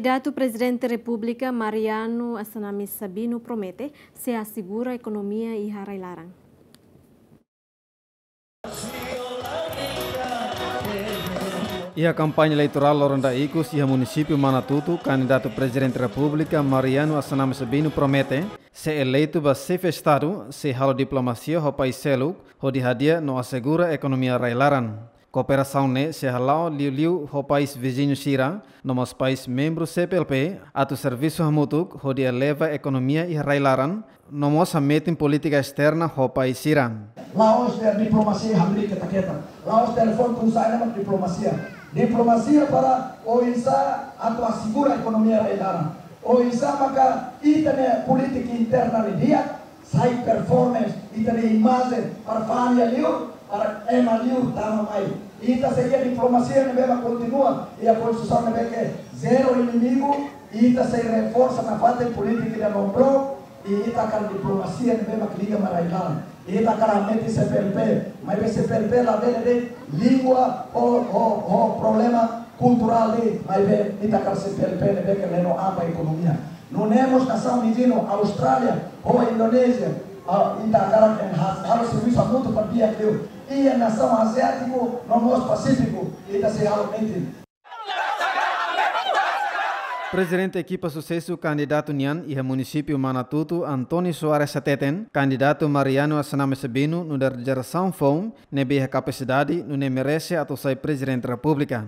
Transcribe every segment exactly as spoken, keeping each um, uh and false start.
Kandidatu Prezidente Repúblika Mariano Assanami Sabino promete sei asegura ekonomia iha rai-laran. Iha kampaña eleitorál loron ida ikus iha munisípiu Manatuto, kandidatu Prezidente Repúblika Mariano Assanami Sabino promete, se eleitu ba xefe Estadu, sei halo diplomasia ho país seluk, hodi hadi'a no asegura ekonomia rai-laran. Kooperasaun ne'e sei hala'o liuliu ho país viziñu sira, no mós país membru C P L P, atu servisu hamutuk hodi eleva ekonomia iha rai-laran, no mós hametin polítika esterna ho país sira. La'ós de'it diplomasia hamriik keta-keta. La'ós telefone pulsa ena mak diplomasia. Diplomasia para oinsá atu asegura ekonomia rai-laran. Oinsá maka ita-nia polítika interna nia di'ak, sai performance, ita-nia imajen para família liur, para ema liur tama mai. Ita sei iha diplomasia ne'ebé mak kontinua, iha konstituisaun ne'ebé ke zero inimigu, ita sei reforsa nafatin polítika ida non-blok, i ita hakarak diplomasia ne'ebé mak liga ba rai-laran. Ita hakarak hametin C P L P, maibé C P L P labele de'it língua ho, ho, ho problema kulturál de'it, maibé ita hakarak C P L P ne'ebé ke leno aba ekonomia. Nune'e mós nasaun viziñu, Austrália, ho Indonézia, ah, ita hakarak enhance, halo servisu hamutuk para di'ak liu. Iha nasaun aziátiku, no mós Pasífiku, ita sei halo metin. Prezidente ekipa susesu kandidatu nian iha munisípiu Manatuto, António Soares hateten, kandidatu Mariano Assanami Sabino nu'udar jerasaun foun ne'ebé iha kapasidade nune'e merese atu sai Prezidente Repúblika.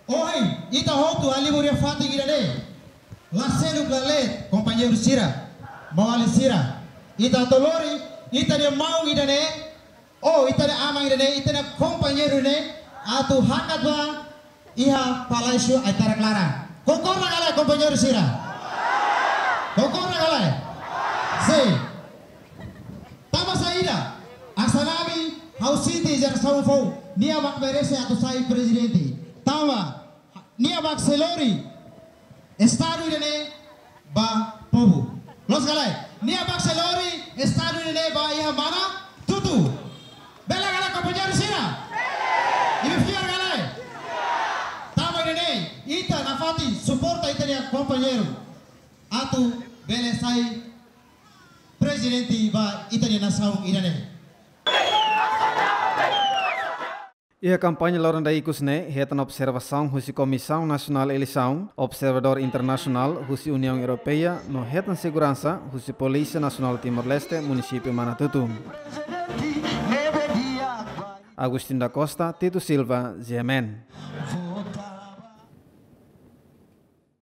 Ohin, ita hotu halibur iha fatin ida-ne'e. La seluk la leet, kompañeiru sira, maun-alin sira. Ita atu lori, ita-nia maun ida-ne'e, ou ita-nia aman ida-ne'e, ita-nia kompañeiru ne'e, atu hakat ba iha Palásiu Aitarak Laran. Konkorda ka lae, kompañeiru sira? Konkorda ka lae? Sin. Tanba saida? Assanami, ha'u sente jerasaun foun, nia mak merese atu sai prezidente. Tanba, nia mak sei lori Estadu ida-ne'e ba povu. Loos ka lae? Nia mak sei lori Estadu ida-ne'e ba iha Manatuto. Bele ka lae, kompañeiru sira? Imi fiar ka lae? Tanba ida-ne'e, ita nafatin suporta ita-nia kompañeiru atu bele sai prezidente ba ita-nia nasaun ida-ne'e. Iha kampaña loron ida ikus ne'e, hetan observasaun husi Komisaun Nasionál Eleisaun, observadór internasionál husi Uniaun Europeia, no hetan seguransa husi Polísia Nasionál Timor-Leste, munisípiu Manatuto. Agostinho da Costa, Tito Silva, G M N.